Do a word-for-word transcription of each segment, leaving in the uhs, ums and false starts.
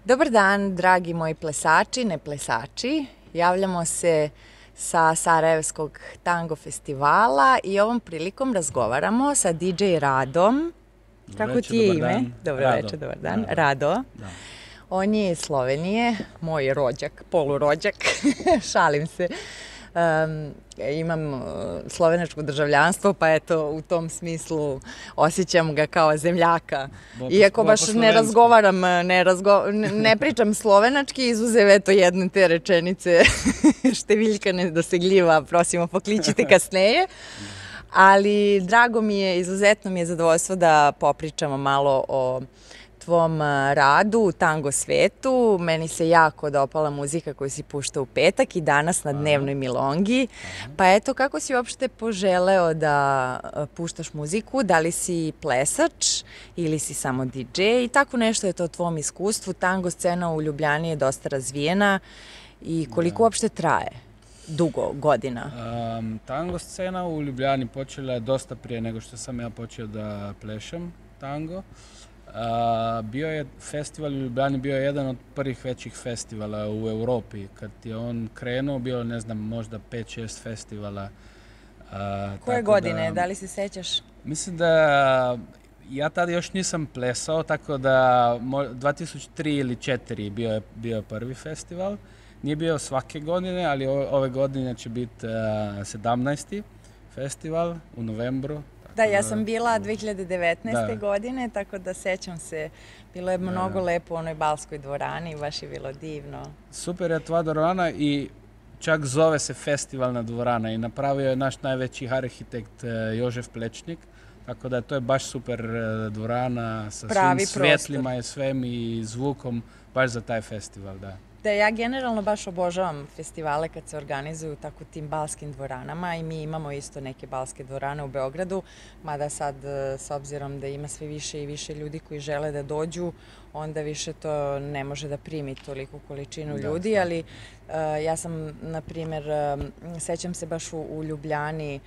Dobar dan, dragi moji plesači, ne plesači. Javljamo se sa Sarajevskog tango festivala i ovom prilikom razgovaramo sa D J Radom. Dobro Kako večer, ti je dobar ime? dan. Dobro Rado. večer, dobar dan. Rado. Rado. Da. On je iz Slovenije, moj rođak, polurođak, šalim se. Um, imam uh, slovenačko državljanstvo, pa eto, u tom smislu osjećam ga kao zemljaka. Bo- Iako bo- baš po ne slovenski. razgovaram, ne, razgo, ne, ne pričam slovenački, izuzev eto jedne te rečenice številjka nedosegljiva, prosimo pokličite kasneje. Ali drago mi je, izuzetno mi je zadovoljstvo da popričamo malo o tvom a, radu u tango svetu. Meni se jako dopala muzika koju si puštao u petak i danas na dnevnoj milongi. Pa eto, kako si uopšte poželeo da a, puštaš muziku? Da li si plesač ili si samo D J? I tako nešto je to o tvom iskustvu. Tango scena u Ljubljani je dosta razvijena i koliko uopšte traje? Dugo godina. Um, tango scena u Ljubljani počela je dosta prije nego što sam ja počeo da plešem tango. Uh, bio je festival u Ljubljani, bio je jedan od prvih većih festivala u Europi. Kad je on krenuo, bilo ne znam, možda pet šest festivala. Uh, Koje tako godine? Da, Da li se sećaš? mislim da ja tada još nisam plesao, tako da mo- dva tisuće tri ili četiri bio je bio je prvi festival. Nije bio svake godine, ali o- ove godine će biti uh, sedamnaesti festival u novembru. Da, tako ja sam bila dve hiljade devetnaeste. Da. godine, tako da sećam se. Bilo je mnogo lepo u onoj Balskoj dvorani, baš je bilo divno. Super je tva dvorana i čak zove se festivalna dvorana i napravio je naš najveći arhitekt uh, Jožef Plečnik. Tako da to je baš super uh, dvorana sa Pravi svim svjetlima i svem i zvukom baš za taj festival, da. Da, ja generalno baš obožavam festivale kad se organizuju tako u tim balskim dvoranama i mi imamo isto neke balske dvorane u Beogradu, mada sad e, s obzirom da ima sve više i više ljudi koji žele da dođu, onda više to ne može da primi toliku količinu Da, ljudi, stvarno. ali e, ja sam, na primjer, e, sećam se baš u, u Ljubljani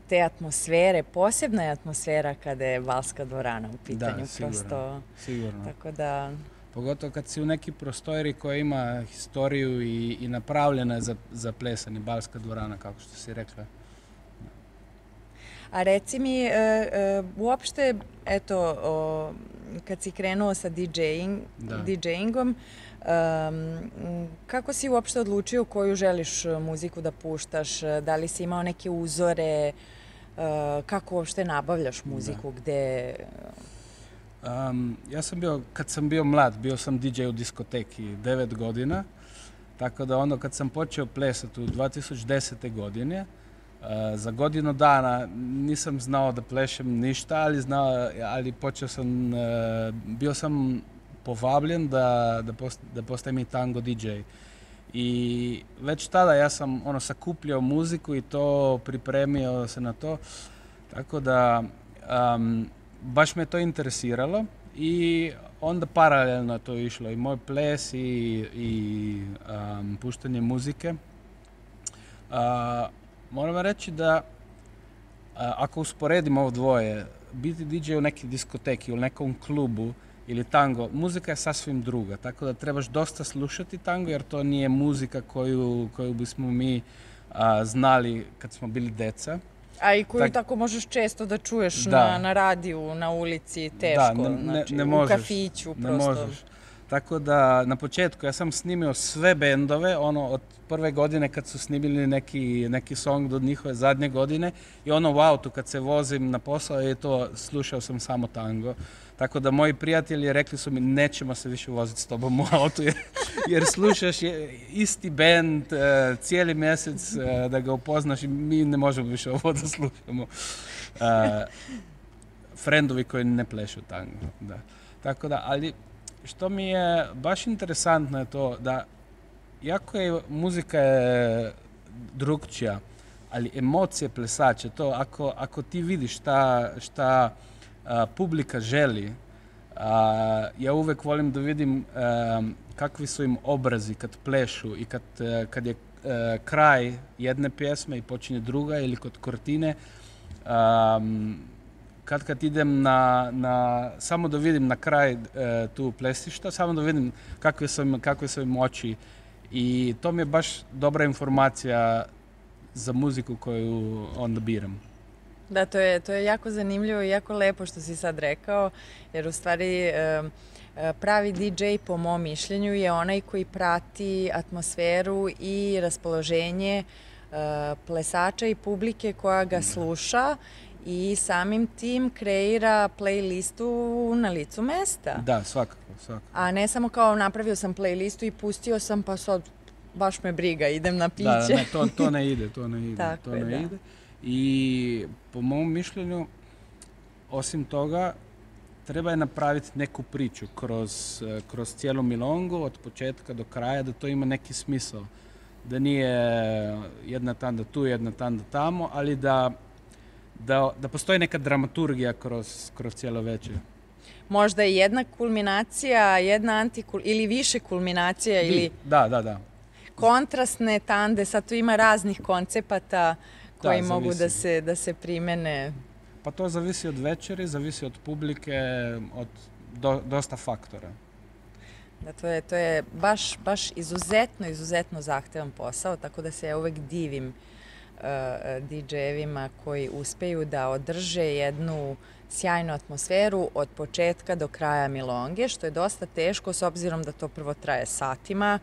te atmosfere, posebna je atmosfera kada je balska dvorana u pitanju. Da, sigurno. Prosto, Sigurno. tako da... Pogotovo kad si u neki prostoriji koja ima historiju i, i napravljena je za, za plesanje, balska dvorana, kako što si rekla. A reci mi, e, e, uopšte, eto, o, kad si krenuo sa DJing, Da. DJingom, um, kako si uopšte odlučio koju želiš muziku da puštaš? Da li si imao neke uzore? E, kako uopšte nabavljaš muziku? Gde... Um, ja sam bio, kad sam bio mlad, bio sam D J u diskoteki devet godina, tako da onda kad sam počeo plesati u dva tisuće desete. godine, uh, za godinu dana nisam znao da plešem ništa, ali, znao, ali počeo sam, uh, bio sam povablen da, da, post, da postajem i tango D J. I već tada ja sam ono sakupljao muziku i to pripremio se na to, tako da um, baš me to interesiralo i onda paralelno to išlo i moj ples i, i um, puštanje muzike. Uh, moram reći da uh, ako usporedimo ovo dvoje, biti D J u nekoj diskoteki ili nekom klubu ili tango, muzika je sasvim druga, tako da trebaš dosta slušati tango jer to nije muzika koju, koju bismo mi uh, znali kad smo bili deca. A i koju Tak- tako možeš često da čuješ Da. na, na radiju, na ulici, teško, Da, ne, ne, znači ne u možeš, kafiću ne prosto. možeš. Tako da na početku ja sam snimio sve bendove, ono od prve godine kad su snimili neki, neki song do njihove zadnje godine i ono u autu kad se vozim na posao i to slušao sam samo tango. Tako da moji prijatelji rekli su mi nećemo se više voziti s tobom u autu jer, jer slušaš je, isti bend uh, cijeli mjesec uh, da ga upoznaš i mi ne možemo više ovo da slušamo. Uh, Frendovi koji ne plešu tango, da. Tako da, ali što mi je baš interesantno je to da jako je muzika je drugčija, ali emocije plesače, to ako, ako ti vidiš šta, šta a, publika želi, a, ja uvek volim da vidim a, kakvi su im obrazi kad plešu i kad, a, kad je a, kraj jedne pjesme i počinje druga ili kod kortine, a, kad kad idem na, na, samo da vidim na kraj e, tu plesišta, samo da vidim kakve su, im, kakve su im oči. I to mi je baš dobra informacija za muziku koju onda biram. Da, to je, to je jako zanimljivo i jako lepo što si sad rekao, jer u stvari e, pravi D J po mom mišljenju je onaj koji prati atmosferu i raspoloženje e, plesača i publike koja ga sluša i samim tim kreira playlistu na licu mesta. Da, svakako, svakako. A ne samo kao napravio sam playlistu i pustio sam pa sad baš me briga, idem na piće. Da, ne, to, to ne ide, to ne ide. Tako to je, ne da. ide. I po mom mišljenju, osim toga, treba je napraviti neku priču kroz, kroz cijelu milongu, od početka do kraja, da to ima neki smisao. Da nije jedna tanda tu, jedna tanda tamo, ali da, da, da postoji neka dramaturgija kroz, kroz cijelo večer. Možda je jedna kulminacija, jedna antikul ili više kulminacija ili da, da, da. kontrastne tande, sad tu ima raznih koncepata koji da, mogu da se, da se primene. Pa to zavisi od večeri, zavisi od publike, od do, dosta faktora. Da, to je, to je baš, baš izuzetno, izuzetno zahtevan posao, tako da se ja uvek divim uh, D J-evima koji uspeju da održe jednu sjajnu atmosferu od početka do kraja milonge, što je dosta teško s obzirom da to prvo traje satima.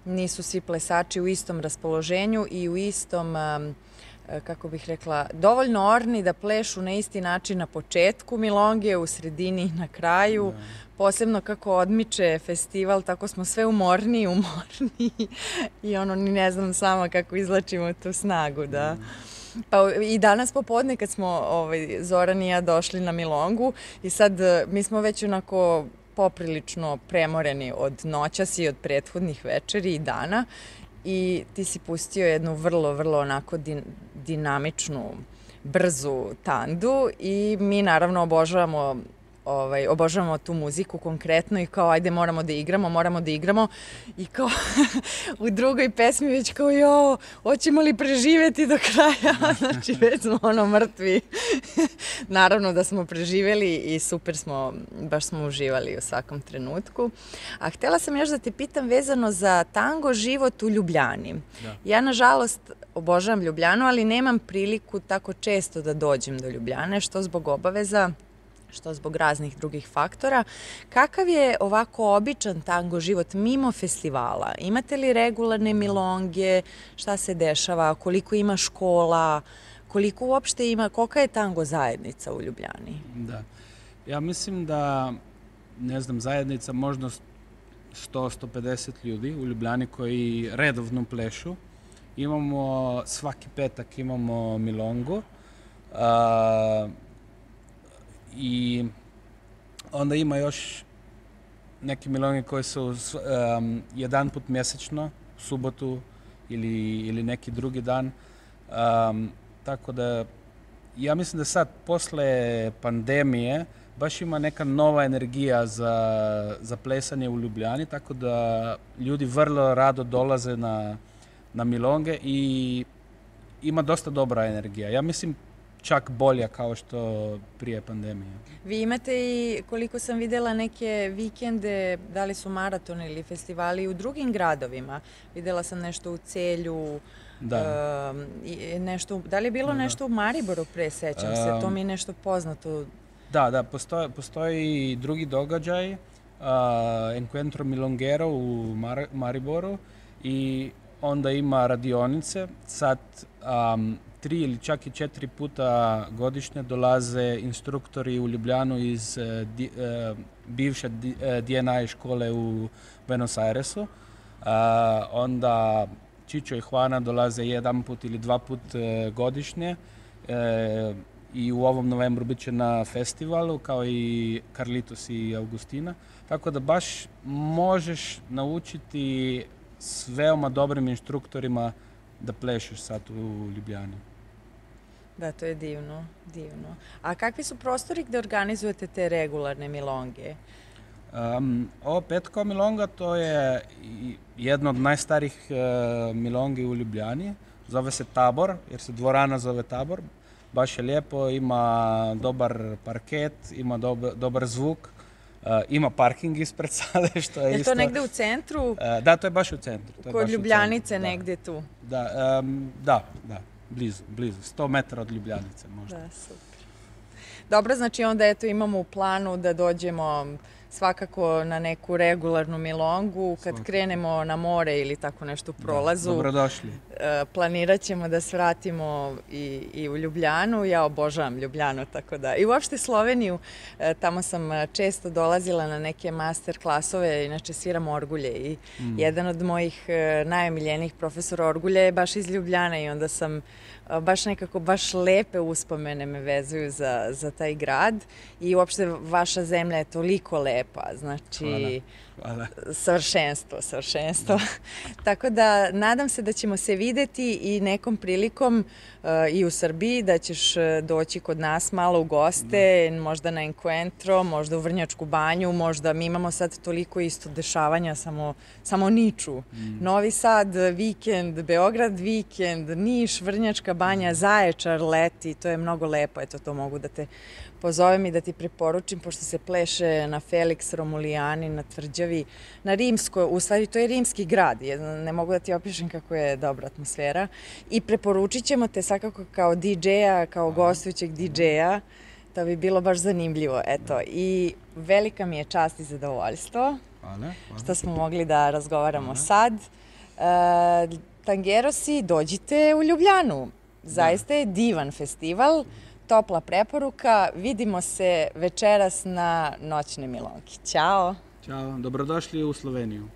Nisu svi plesači u istom raspoloženju i u istom, um, kako bih rekla, dovoljno orni da plešu na isti način na početku milonge, u sredini i na kraju. Da. Posebno kako odmiče festival, tako smo sve umorniji i umorniji i ono, ni ne znam sama kako izlačimo tu snagu, da. Pa i danas popodne kad smo ovaj, Zoran i ja došli na milongu i sad mi smo već onako poprilično premoreni od noćas i od prethodnih večeri i dana i ti si pustio jednu vrlo, vrlo onako din, dinamičnu, brzu tandu i mi naravno obožavamo Ovaj, obožavamo tu muziku konkretno i kao ajde moramo da igramo, moramo da igramo i kao u drugoj pesmi već kao jo, hoćemo li preživjeti do kraja, znači već smo ono mrtvi. Naravno da smo preživjeli i super smo, baš smo uživali u svakom trenutku. A htjela sam još da te pitam vezano za tango život u Ljubljani. Da. Ja nažalost obožavam Ljubljanu, ali nemam priliku tako često da dođem do Ljubljane, što zbog obaveza, što zbog raznih drugih faktora. Kakav je ovako običan tango život mimo festivala? Imate li regularne milonge? Šta se dešava? Koliko ima škola? Koliko uopšte ima? Kolika je tango zajednica u Ljubljani? Da. Ja mislim da, ne znam, zajednica možda sto do sto pedeset ljudi u Ljubljani koji redovno plešu. Imamo, svaki petak imamo milongu. Uh, I onda ima još neke milonge koje su um, jedan put mjesečno, u subotu ili, ili neki drugi dan. Um, tako da, ja mislim da sad, posle pandemije, baš ima neka nova energija za, za plesanje u Ljubljani, tako da ljudi vrlo rado dolaze na, na milonge i ima dosta dobra energija. Ja mislim, čak bolja kao što prije pandemije. Vi imate i, koliko sam vidjela, neke vikende, da li su maratoni ili festivali u drugim gradovima. Vidjela sam nešto u Celju, da, uh, nešto, da li je bilo da, nešto u Mariboru pre, sećam um, se, to mi je nešto poznato. Da, da, postoji, postoji i drugi događaj, uh, Encuentro Milongero u Mar Mariboru i onda ima radionice. Sad um, tri ili čak i četiri puta godišnje dolaze instruktori u Ljubljanu iz uh, di, uh, bivše D N I škole u Buenos Airesu. Uh, onda Čičo i Juana dolaze jedan put ili dva put uh, godišnje uh, i u ovom novembru bit će na festivalu kao i Carlitos i Augustina. Tako da baš možeš naučiti s veoma dobrim instruktorima da plešeš sad u Ljubljani. Da, to je divno, divno. A kakvi su prostori gdje organizujete te regularne milonge? Um, ovo Petko milonga, to je jedna od najstarijih uh, milongi u Ljubljani. Zove se Tabor, jer se dvorana zove Tabor. baš je lijepo, ima dobar parket, ima dobar, dobar zvuk, uh, ima parking ispred sale, što je, je isto... Je to negde u centru? Uh, da, to je baš u centru. To je Kod baš Ljubljanice, centru, negde tu? Da, um, da, da, blizu, blizu, sto metara od Ljubljanice možda. Da, super. Dobro, znači onda eto imamo u planu da dođemo svakako na neku regularnu milongu, kad svakako krenemo na more ili tako nešto u prolazu. Da, dobrodošli. Planirat ćemo da svratimo i, i u Ljubljanu. Ja obožavam Ljubljanu, tako da. I uopšte Sloveniju, tamo sam često dolazila na neke master klasove, inače sviram orgulje i mm. jedan od mojih najomiljenijih profesora orgulja je baš iz Ljubljana i onda sam baš nekako, baš lepe uspomene me vezuju za, za taj grad i uopšte vaša zemlja je toliko lepa, znači hvala. Hvala. savršenstvo, savršenstvo. Tako da nadam se da ćemo se videti i nekom prilikom uh, i u Srbiji, da ćeš doći kod nas malo u goste, da. Možda na Encuentro, možda u Vrnjačku banju, možda mi imamo sad toliko isto dešavanja, samo, samo niču. Mm. Novi Sad, vikend, Beograd, vikend, Niš, Vrnjačka banja, Zaječar, leti, to je mnogo lepo, eto to mogu da te pozovem i da ti preporučim, pošto se pleše na Felix Romulijani, na Tvrđavi, na Rimskoj, u stvari to je rimski grad, ne mogu da ti opišem kako je dobra atmosfera i preporučit ćemo te svakako kao di džeja, kao gostujućeg di džeja, to bi bilo baš zanimljivo, eto, i velika mi je čast i zadovoljstvo hvala, hvala. što smo mogli da razgovaramo hvala. sad. E, Tangerosi, dođite u Ljubljanu, zaista je divan festival, topla preporuka, vidimo se večeras na noćnoj milonki. Ćao! Ćao, dobrodošli u Sloveniju.